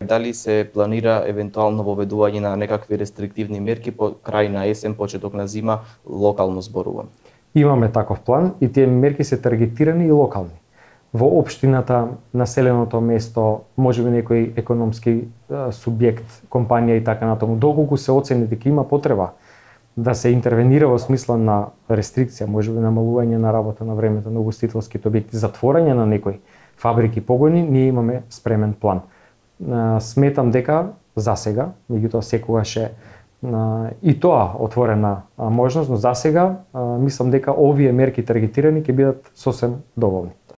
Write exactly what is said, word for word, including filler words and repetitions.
Дали се планира евентуално воведување на некакви рестриктивни мерки по крај на есен, почеток на зима, локално зборувам? Имаме таков план и тие мерки се таргетирани и локални. Во општината, населеното место, можеби некој економски субјект, компанија и така натаму, доколку се оцени дека има потреба да се интервенира во смисла на рестрикција, можеби намалување на работа на времето на угостителските објекти, затворање на некои фабрики, погони, ние имаме спремен план. Сметам дека засега, меѓутоа секогаш е и тоа отворена можност, но засега мислам дека овие мерки таргетирани ќе бидат сосем доволни.